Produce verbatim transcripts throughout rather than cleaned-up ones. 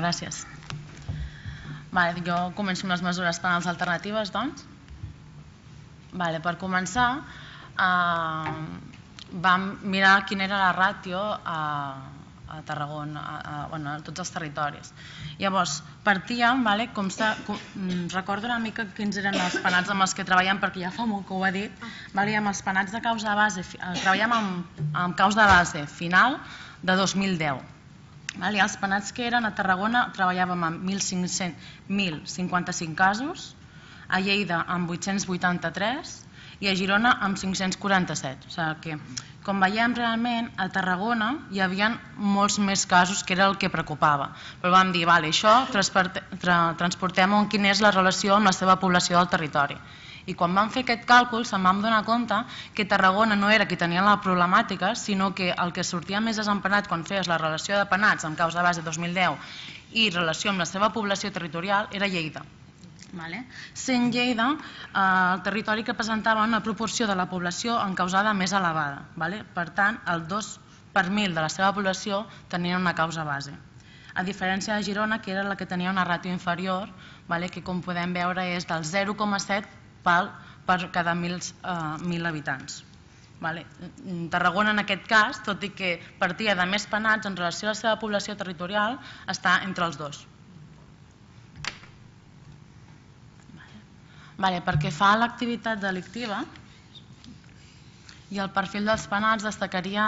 gràcies. Jo començo amb les mesures penals alternatives, doncs. Per començar, vam mirar quina era la ràtio a Tarragona, a tots els territoris. Llavors, partíem, recordo una mica quins eren els penats amb els que treballem, perquè ja fa molt que ho he dit, amb els penats de causa de base, treballem amb causa de base final de dos mil deu. Els penats que eren a Tarragona treballàvem amb mil cinquanta-cinc casos, a Lleida amb vuit-cents vuitanta-tres i a Girona amb cinc-cents quaranta-set. O sigui que, com veiem, realment a Tarragona hi havia molts més casos, que era el que preocupava. Però vam dir, vale, això transportem-ho en quina és la relació amb la seva població del territori. I quan vam fer aquest càlcul se'n vam donar compte que Tarragona no era qui tenia la problemàtica, sinó que el que sortia més desempenat quan feies la relació de penats amb causa de base dos mil deu i relació amb la seva població territorial era Lleida. Sent Lleida el territori que presentava una proporció de la població encausada més elevada. Per tant, el dos per mil de la seva població tenia una causa base. A diferència de Girona, que era la que tenia una ràtio inferior, que com podem veure és del zero coma set per cada mil habitants. Tarragona, en aquest cas, tot i que partia de més penats en relació a la seva població territorial, està entre els dos. Pel que fa a l'activitat delictiva i el perfil dels penats, destacaria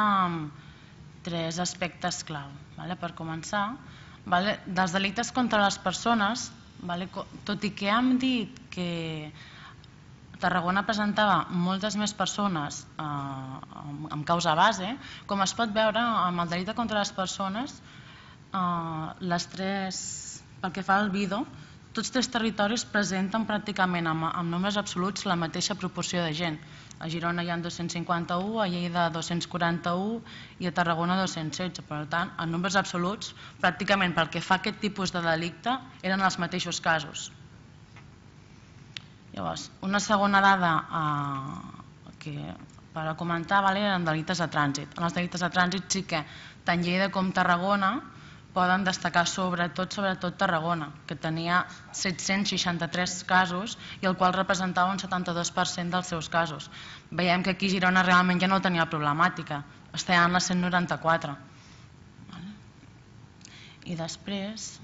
tres aspectes clau. Per començar, dels delictes contra les persones, tot i que hem dit que Tarragona presentava moltes més persones amb causa base, com es pot veure, amb el delicte contra les persones, pel que fa al Vido, tots tres territoris presenten pràcticament amb nombres absoluts la mateixa proporció de gent. A Girona hi ha dos-cents cinquanta-u, a Lleida dos-cents quaranta-u i a Tarragona dos-cents setze. Per tant, en nombres absoluts, pràcticament pel que fa a aquest tipus de delicte, eren els mateixos casos. Llavors, una segona dada per comentar eren delictes de trànsit. En els delictes de trànsit sí que tant Lleida com Tarragona poden destacar sobretot, sobretot Tarragona, que tenia set-cents seixanta-tres casos i el qual representava un setanta-dos per cent dels seus casos. Veiem que aquí Girona realment ja no tenia problemàtica, estava en la cent noranta-quatre. I després,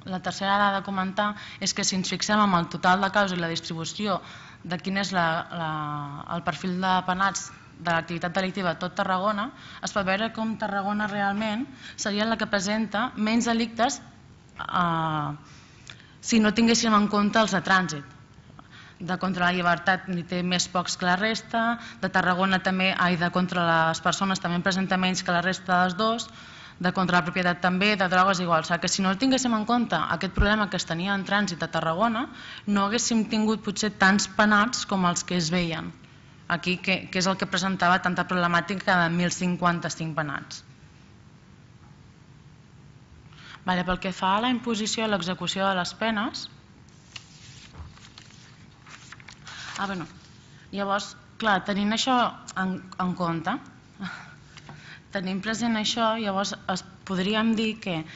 la tercera dada a comentar és que si ens fixem en el total de casos i la distribució de quin és el perfil de penats de l'activitat delictiva a tot Tarragona, es pot veure com Tarragona realment seria la que presenta menys delictes si no tinguéssim en compte els de trànsit. De contra la llibertat n'hi té més pocs que la resta, de Tarragona també, ai, de contra les persones també en presenta menys que la resta dels dos, de contra la propietat també, de drogues igual. O sigui que si no tinguéssim en compte aquest problema que es tenia en trànsit a Tarragona, no haguéssim tingut potser tants penats com els que es veien aquí, que és el que presentava tanta problemàtica de mil cinquanta-cinc penats. Pel que fa a la imposició i l'execució de les penes, llavors, clar, tenint això en compte, tenint present això, llavors podríem dir que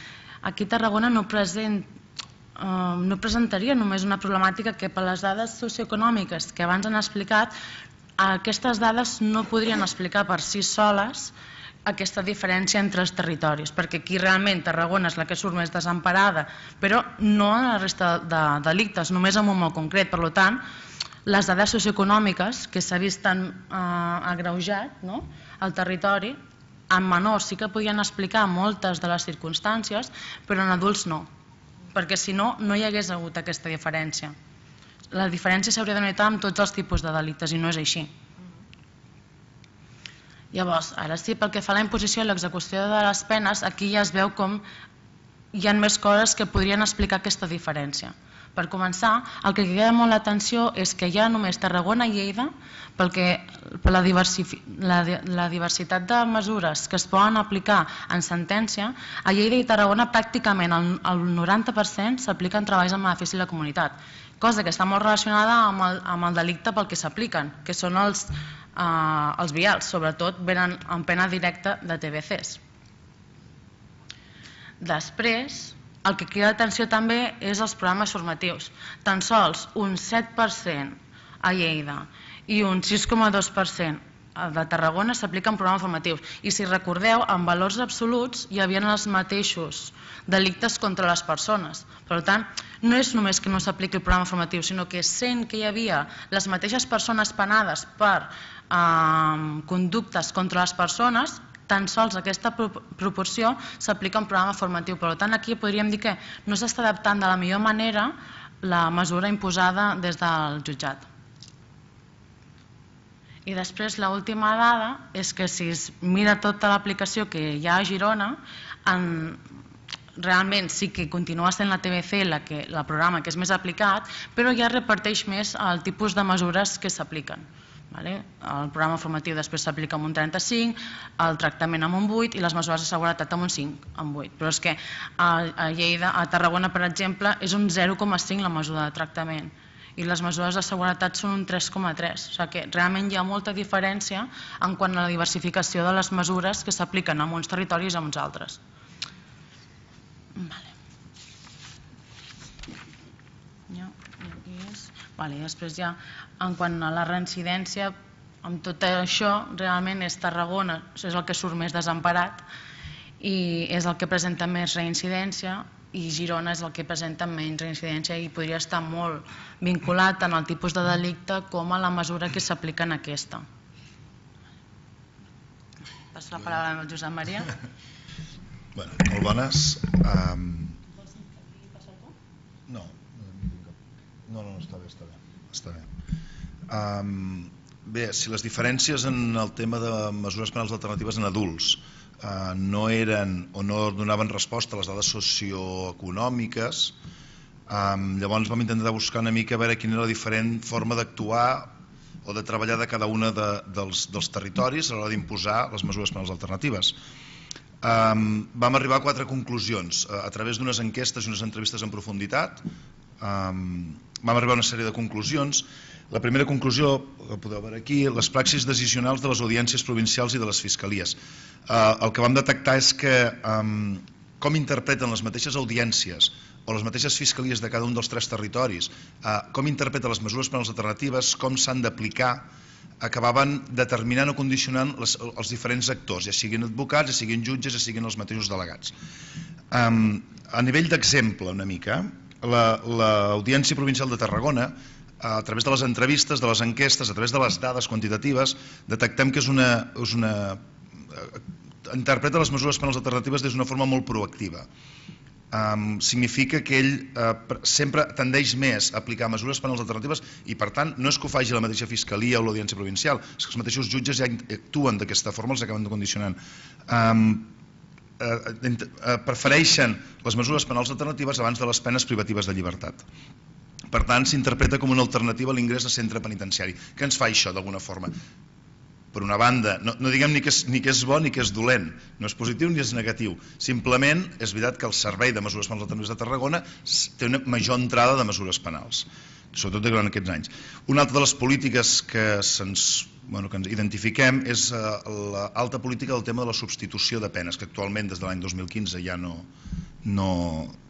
aquí Tarragona no presentaria només una problemàtica que per les dades socioeconòmiques que abans han explicat, aquestes dades no podrien explicar per si soles aquesta diferència entre els territoris, perquè aquí realment Tarragona és la que surt més desemparada, però no en la resta de delictes, només en un molt concret. Per tant, les dades socioeconòmiques que s'ha vist tan agreujat al territori, en menors sí que podien explicar moltes de les circumstàncies, però en adults no, perquè si no, no hi hagués hagut aquesta diferència. La diferència s'hauria de notar amb tots els tipus de delictes i no és així. Llavors, ara sí, pel que fa a la imposició i l'execució de les penes, aquí ja es veu com hi ha més coses que podrien explicar aquesta diferència. Per començar, el que queda molt l'atenció és que hi ha només Tarragona i Lleida, per la diversitat de mesures que es poden aplicar en sentència, a Lleida i Tarragona pràcticament el noranta per cent s'apliquen treballs en benefici de la comunitat, cosa que està molt relacionada amb el delicte pel que s'apliquen, que són els vials, sobretot venen en pena directa de T B Cs. Després, el que crida l'atenció també és els programes formatius. Tan sols un set per cent a Lleida i un sis coma dos per cent de Tarragona s'apliquen programes formatius. I si recordeu, en valors absoluts hi havia els mateixos delictes contra les persones. Per tant, no és només que no s'apliqui el programa formatiu, sinó que sent que hi havia les mateixes persones penades per eh, conductes contra les persones, tan sols aquesta proporció s'aplica un programa formatiu. Per tant, aquí podríem dir que no s'està adaptant de la millor manera la mesura imposada des del jutjat. I després l'última dada és que si es mira tota l'aplicació que hi ha a Girona, en, realment sí que continua sent la T B C la que, el programa que és més aplicat, però ja reparteix més el tipus de mesures que s'apliquen. Vale? El programa formatiu després s'aplica amb un trenta-cinc, el tractament amb un vuit i les mesures de seguretat amb un cinc, amb vuit. Però és que a, a Lleida, a Tarragona, per exemple, és un zero coma cinc la mesura de tractament i les mesures de seguretat són un tres coma tres. O sigui que realment hi ha molta diferència en quant a la diversificació de les mesures que s'apliquen en uns territoris i en uns altres. Vale. Ja, aquí és. Vale, i després ja, en quant a la reincidència, amb tot això, realment és Tarragona, és el que surt més desemparat i és el que presenta més reincidència, i Girona és el que presenta menys reincidència i podria estar molt vinculat tant al tipus de delicte com a la mesura que s'aplica en aquesta. Passo la paraula al Josep Maria. Bueno, molt bones. Um... No, no, no, està bé, està bé. Està bé. Um, bé, si les diferències en el tema de mesures penals alternatives en adults uh, no eren o no donaven resposta a les dades socioeconòmiques, um, llavors vam intentar buscar una mica a veure quina era la diferent forma d'actuar o de treballar de cada una de, dels, dels territoris a l'hora d'imposar les mesures penals alternatives. Um, vam arribar a quatre conclusions a, a través d'unes enquestes i unes entrevistes en profunditat. Um, vam arribar a una sèrie de conclusions. La primera conclusió, que podeu veure aquí, les praxis decisionals de les audiències provincials i de les fiscalies. Uh, el que vam detectar és que um, com interpreten les mateixes audiències o les mateixes fiscalies de cada un dels tres territoris, uh, com interpreten les mesures penals alternatives, com s'han d'aplicar, acabaven determinant o condicionant les, els diferents actors, ja siguin advocats, ja siguin jutges, ja siguin els mateixos delegats. Um, a nivell d'exemple, una mica, l'Audiència Provincial de Tarragona, a través de les entrevistes, de les enquestes, a través de les dades quantitatives, detectem que és una, és una, interpreta les mesures penals alternatives des d'una forma molt proactiva. Um, significa que ell uh, sempre tendeix més a aplicar mesures penals alternatives i per tant no és que ho faci la mateixa fiscalia o l'audiència provincial, és que els mateixos jutges ja actuen d'aquesta forma, els acaben condicionant. Um, uh, uh, prefereixen les mesures penals alternatives abans de les penes privatives de llibertat. Per tant, s'interpreta com una alternativa a l'ingrés a centre penitenciari. Què ens fa això d'alguna forma? Per una banda, no, no diguem ni que, és, ni que és bo ni que és dolent, no és positiu ni és negatiu, simplement és veritat que el Servei de Mesures Penals Alternatives de Tarragona té una major entrada de mesures penals, sobretot durant aquests anys. Una altra de les polítiques que, se'ns, bueno, que ens identifiquem és uh, l'alta política del tema de la substitució de penes, que actualment des de l'any dos mil quinze ja no... no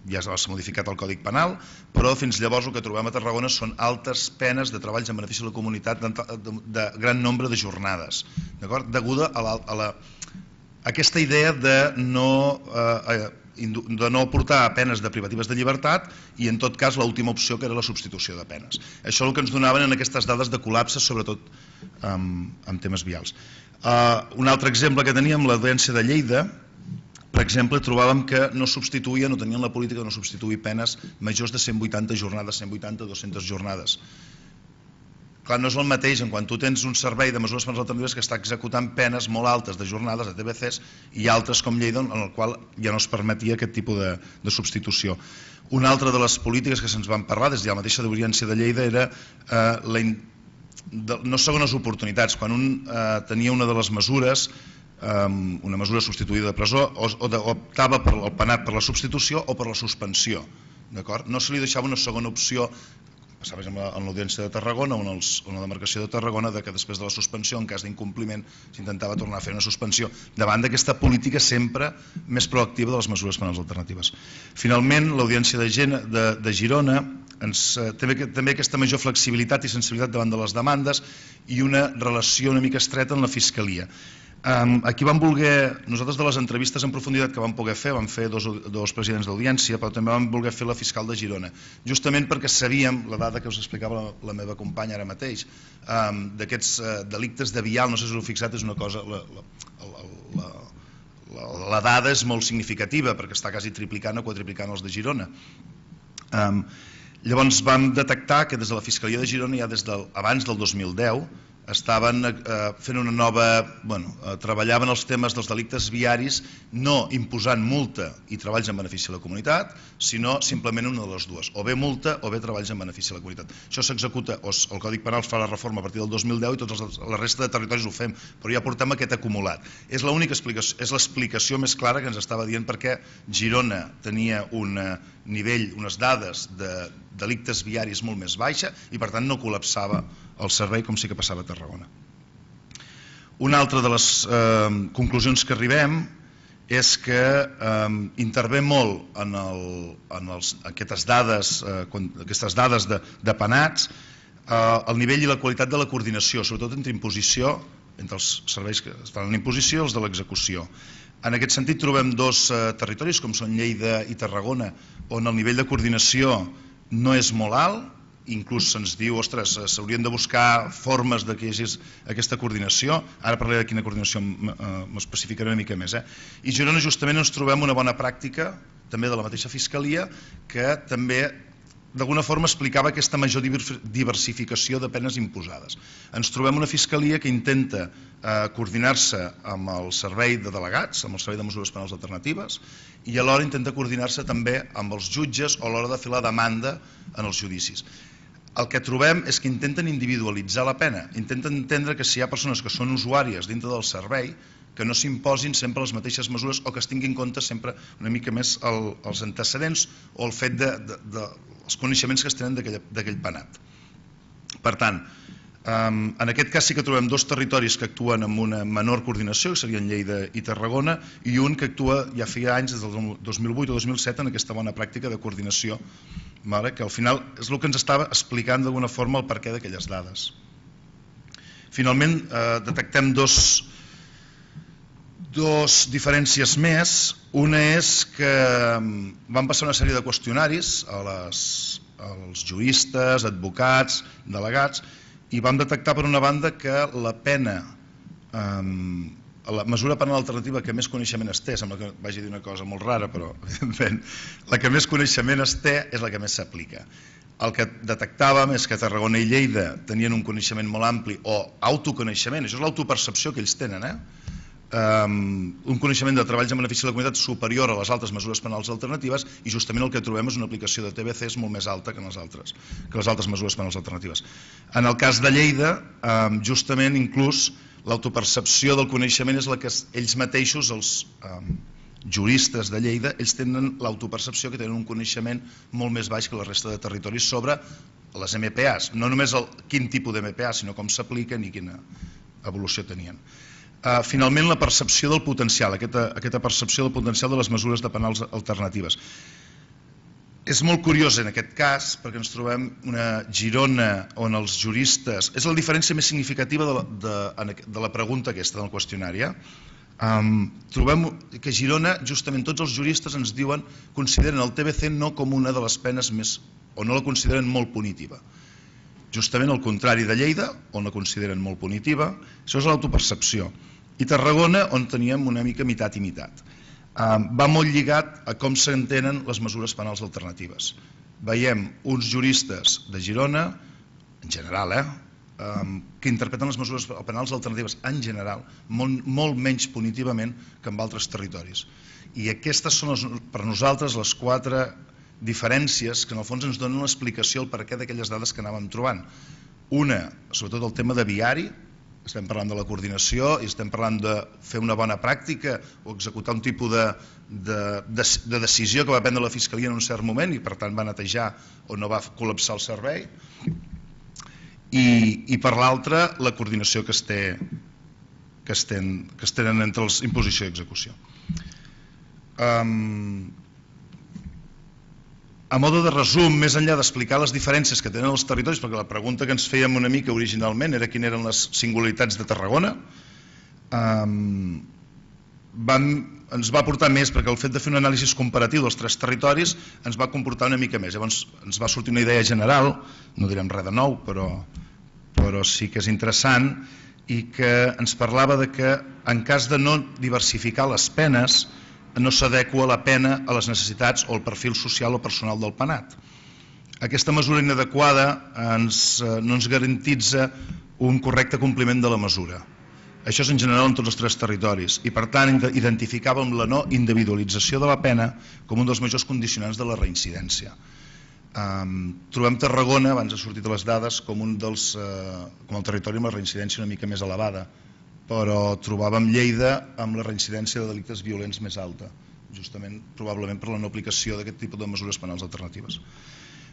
ja s'ha modificat el Codi Penal, però fins llavors el que trobem a Tarragona són altes penes de treballs en benefici de la comunitat de, de, de gran nombre de jornades, d'acord? Deguda a, la, a, la, a aquesta idea de no, eh, de no portar penes de privatives de llibertat i en tot cas l'última opció que era la substitució de penes. Això és el que ens donaven en aquestes dades de col·lapse, sobretot amb, amb temes vials. Uh, un altre exemple que teníem, l'Audiència de Lleida, per exemple, trobàvem que no substituïen, no tenien la política de no substituir penes majors de cent vuitanta jornades, cent vuitanta a dues-centes jornades. Clar, no és el mateix en quan tu tens un servei de mesures penals alternatives que està executant penes molt altes de jornades, de T B Cs, i altres com Lleida, en el qual ja no es permetia aquest tipus de, de substitució. Una altra de les polítiques que se'ns van parlar des de la mateixa Audiència de Lleida era eh, la in... de, no segones oportunitats. Quan un eh, tenia una de les mesures, una mesura substituïda de presó, o, o de, optava per el penat per la substitució o per la suspensió. No se li deixava una segona opció passava en l'Audiència de Tarragona o en la demarcació de Tarragona, que després de la suspensió, en cas d'incompliment, s'intentava tornar a fer una suspensió, davant d'aquesta política sempre més proactiva de les mesures penals alternatives. Finalment, l'Audiència de Girona també aquesta major flexibilitat i sensibilitat davant de les demandes i una relació una mica estreta amb la Fiscalia. Aquí vam voler, nosaltres de les entrevistes en profunditat que vam poder fer, vam fer dos presidents d'audiència, però també vam voler fer la fiscal de Girona, justament perquè sabíem, la dada que us explicava la meva companya ara mateix, d'aquests delictes de vial, no sé si us heu fixat, és una cosa, la dada és molt significativa perquè està quasi triplicant o quadriplicant els de Girona. Llavors vam detectar que des de la Fiscalia de Girona, ja des d'abans del dos mil deu, estaven fent una nova, bueno, treballaven els temes dels delictes viaris no imposant multa i treballs en benefici de la comunitat, sinó simplement una de les dues, o bé multa o bé treballs en benefici de la comunitat. Això s'executa, el Codi Penal fa la reforma a partir del dos mil deu i tota la resta de territoris ho fem, però ja portem aquest acumulat. És l'única explicació, és l'explicació més clara que ens estava dient perquè Girona tenia un nivell, unes dades de delictes viaris molt més baixa i per tant no col·lapsava el servei com sí que passava a Tarragona. Una altra de les conclusions que arribem és que intervé molt en aquestes dades de penats el nivell i la qualitat de la coordinació, sobretot entre imposició, entre els serveis que es fan en imposició i els de l'execució. En aquest sentit trobem dos territoris com són Lleida i Tarragona on el nivell de coordinació no és molt alt, inclús se'ns diu, ostres, s'haurien de buscar formes que hi hagi aquesta coordinació, ara parlaré de quina coordinació m'especificaré una mica més. I a Girona justament ens trobem una bona pràctica, també de la mateixa Fiscalia, que també d'alguna forma explicava aquesta major diversificació de penes imposades. Ens trobem una Fiscalia que intenta coordinar-se amb el servei de delegats, amb el servei de mesures penals alternatives, i alhora intenta coordinar-se també amb els jutges a l'hora de fer la demanda en els judicis. El que trobem és que intenten individualitzar la pena, intenten entendre que si hi ha persones que són usuàries dintre del servei, que no s'imposin sempre les mateixes mesures o que es tinguin en compte sempre una mica més els antecedents o el fet dels coneixements que es tenen d'aquell penat. Per tant, en aquest cas sí que trobem dos territoris que actuen amb una menor coordinació, que serien Lleida i Tarragona, i un que actua ja feia anys, des del dos mil vuit o dos mil set, en aquesta bona pràctica de coordinació, que al final és el que ens estava explicant d'alguna forma el perquè d'aquelles dades. Finalment, detectem dos dues diferències més. Una és que van passar una sèrie de qüestionaris als juristes, advocats, delegats, i vam detectar per una banda que la pena, la mesura penal alternativa que més coneixement es té, sembla que vagi a dir una cosa molt rara, però evidentment la que més coneixement es té és la que més s'aplica. El que detectàvem és que Tarragona i Lleida tenien un coneixement molt ampli o autoconeixement, això és l'autopercepció que ells tenen, eh? un coneixement de treballs en benefici de la comunitat superior a les altres mesures penals alternatives i justament el que trobem és una aplicació de T B C és molt més alta que les altres mesures penals alternatives. En el cas de Lleida, justament inclús l'autopercepció del coneixement és la que ells mateixos, els juristes de Lleida, ells tenen l'autopercepció que tenen un coneixement molt més baix que la resta de territoris sobre les M P As, no només quin tipus de M P A, sinó com s'apliquen i quina evolució tenien. Finalment, la percepció del potencial, aquesta percepció del potencial de les mesures de penals alternatives. És molt curiós en aquest cas, perquè ens trobem una Girona on els juristes... És la diferència més significativa de la pregunta aquesta, del qüestionari. Trobem que a Girona, justament tots els juristes ens diuen, consideren el T B C no com una de les penes més... o no la consideren molt punitiva. Justament el contrari de Lleida, on la consideren molt punitiva, això és l'autopercepció. I Tarragona, on teníem una mica mitat i mitat. Va molt lligat a com s'entenen les mesures penals alternatives. Veiem uns juristes de Girona, en general, que interpreten les mesures penals alternatives en general molt menys punitivament que en altres territoris. I aquestes són per nosaltres les quatre diferències que en el fons ens donen l'explicació al perquè d'aquelles dades que anàvem trobant. Una, sobretot el tema de viari, estem parlant de la coordinació i estem parlant de fer una bona pràctica o executar un tipus de, de, de, de decisió que va prendre la Fiscalia en un cert moment i per tant va netejar o no va col·lapsar el servei. I, i per l'altra, la coordinació que es té que es tenen, que es tenen entre els imposició i execució. Um, a mode de resum, més enllà d'explicar les diferències que tenen els territoris, perquè la pregunta que ens fèiem una mica originalment era quines eren les singularitats de Tarragona, um, van, ens va portar més, perquè el fet de fer un anàlisi comparatiu dels tres territoris ens va comportar una mica més. Llavors ens va sortir una idea general, no direm res de nou, però, però sí que és interessant, i que ens parlava de que en cas de no diversificar les penes no s'adequa la pena a les necessitats o al perfil social o personal del penat. Aquesta mesura inadequada ens, no ens garantitza un correcte compliment de la mesura. Això és en general en tots els tres territoris i per tant identificàvem la no individualització de la pena com un dels majors condicionants de la reincidència. Um, trobem Tarragona, abans ha sortit a les dades, com un dels, uh, com el territori amb la reincidència una mica més elevada, però trobàvem Lleida amb la reincidència de delictes violents més alta, justament probablement per la no aplicació d'aquest tipus de mesures penals alternatives.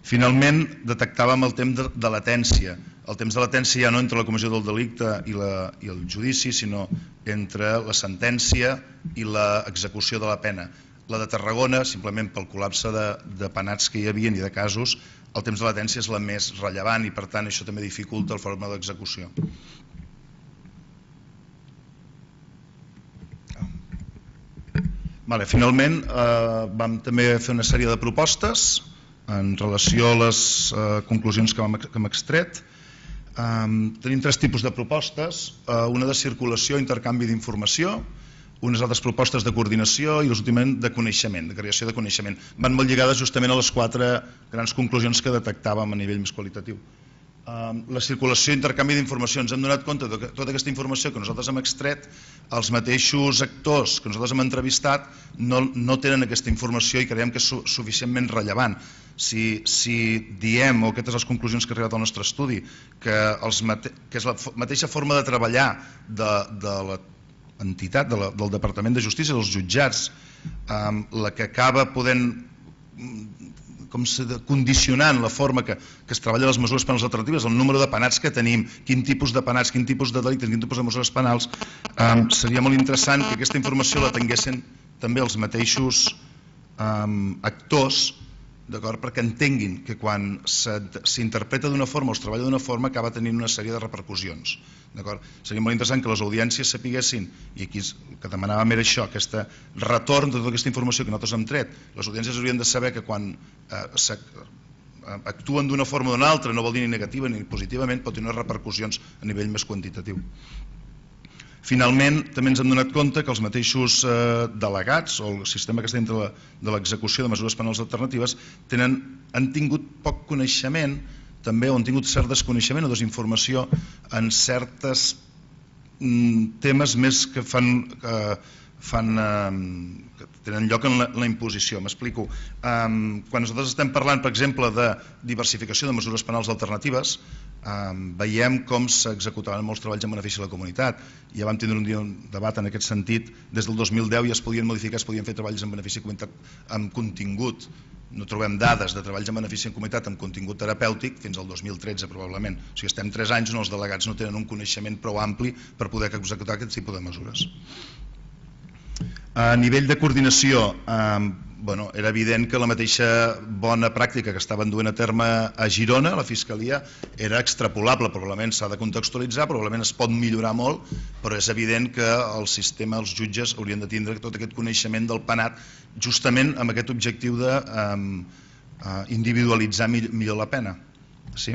Finalment, detectàvem el temps de, de latència. El temps de latència ja no entre la comissió del delicte i, la, i el judici, sinó entre la sentència i l'execució de la pena. La de Tarragona, simplement pel col·lapse de, de penats que hi havia i de casos, el temps de latència és la més rellevant i per tant això també dificulta la forma d'execució. Vale, finalment eh, vam també fer una sèrie de propostes en relació a les eh, conclusions que hem, que hem extret. Eh, tenim tres tipus de propostes, eh, una de circulació, intercanvi d'informació, unes altres propostes de coordinació i l'últimament de coneixement, de creació de coneixement. Van molt lligades justament a les quatre grans conclusions que detectàvem a nivell més qualitatiu. La circulació i intercanvi d'informació, ens hem donat compte que tota aquesta informació que nosaltres hem extret, els mateixos actors que nosaltres hem entrevistat no, no tenen aquesta informació i creiem que és su suficientment rellevant. Si, si diem, o aquestes les conclusions que ha arribat al nostre estudi, que, els mate que és la mateixa forma de treballar de, de l'entitat, de la, del Departament de Justícia, dels jutjats, eh, la que acaba podent com se condicionant la forma que, que es treballa les mesures penals alternatives, el número de penats que tenim, quin tipus de penats, quin tipus de delictes, quin tipus de mesures penals, eh, seria molt interessant que aquesta informació la tinguessin també els mateixos eh, actors, d'acord, perquè entenguin que quan s'interpreta d'una forma o es treballa d'una forma acaba tenint una sèrie de repercussions. Seria molt interessant que les audiències sapiguessin, i aquí el que demanàvem era això, aquest retorn de tota aquesta informació que nosaltres hem tret. Les audiències haurien de saber que quan eh, actuen d'una forma o d'una altra, no vol dir ni negativa ni positivament, pot tenir repercussions a nivell més quantitatiu. Finalment, també ens hem donat compte que els mateixos eh, delegats o el sistema que està dintre de l'execució de mesures penals alternatives tenen, han tingut poc coneixement també, o han tingut cert desconeixement o desinformació en certes mm, temes més que fan, que fan eh, que tenen lloc en la, en la imposició. M'explico. Um, quan nosaltres estem parlant, per exemple, de diversificació de mesures penals alternatives, um, veiem com s'executaven molts treballs en benefici de la comunitat. Ja vam tindre un dia un debat en aquest sentit. Des del dos mil deu ja es podien modificar, es podien fer treballs en benefici de la comunitat amb contingut. No trobem dades de treballs en benefici de la comunitat amb contingut terapèutic fins al dos mil tretze probablement. O sigui, estem tres anys on els delegats no tenen un coneixement prou ampli per poder executar aquest tipus de mesures. A nivell de coordinació, eh, bueno, era evident que la mateixa bona pràctica que estaven duent a terme a Girona, la Fiscalia, era extrapolable, probablement s'ha de contextualitzar, probablement es pot millorar molt, però és evident que el sistema, els jutges, haurien de tindre tot aquest coneixement del penat justament amb aquest objectiu de eh, individualitzar millor la pena. Sí.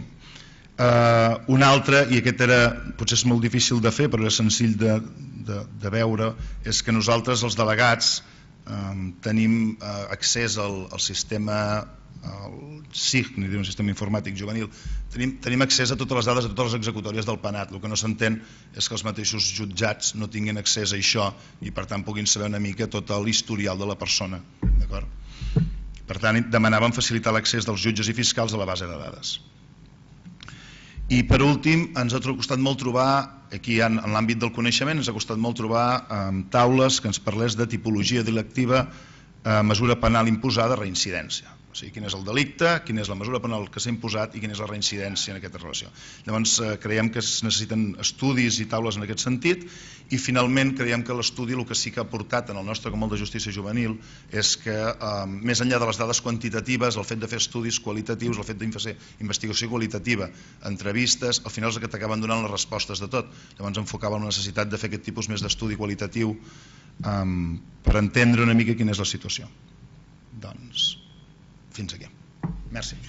Uh, un altre, i aquest era, potser és molt difícil de fer però és senzill de, de, de veure, és que nosaltres els delegats um, tenim uh, accés al, al sistema al S I G, ni dir un sistema informàtic juvenil, tenim, tenim accés a totes les dades de totes les executòries del penat. El que no s'entén és que els mateixos jutjats no tinguin accés a això i per tant puguin saber una mica tot l'historial de la persona. Per tant, demanàvem facilitar l'accés dels jutges i fiscals a la base de dades. I per últim, ens ha costat molt trobar, aquí en l'àmbit del coneixement, ens ha costat molt trobar taules que ens parlés de tipologia delictiva, mesura penal imposada, reincidència. O sigui, quin és el delicte, quina és la mesura penal que s'ha imposat i quina és la reincidència en aquesta relació. Llavors, creiem que es necessiten estudis i taules en aquest sentit i finalment creiem que l'estudi el que sí que ha aportat en el nostre Comol de Justícia Juvenil és que, més enllà de les dades quantitatives, el fet de fer estudis qualitatius, el fet de fer investigació qualitativa, entrevistes, al final és el que t'acaben donant les respostes de tot. Llavors enfocava la necessitat de fer aquest tipus més d'estudi qualitatiu per entendre una mica quina és la situació. Doncs, fins aquí. Merci.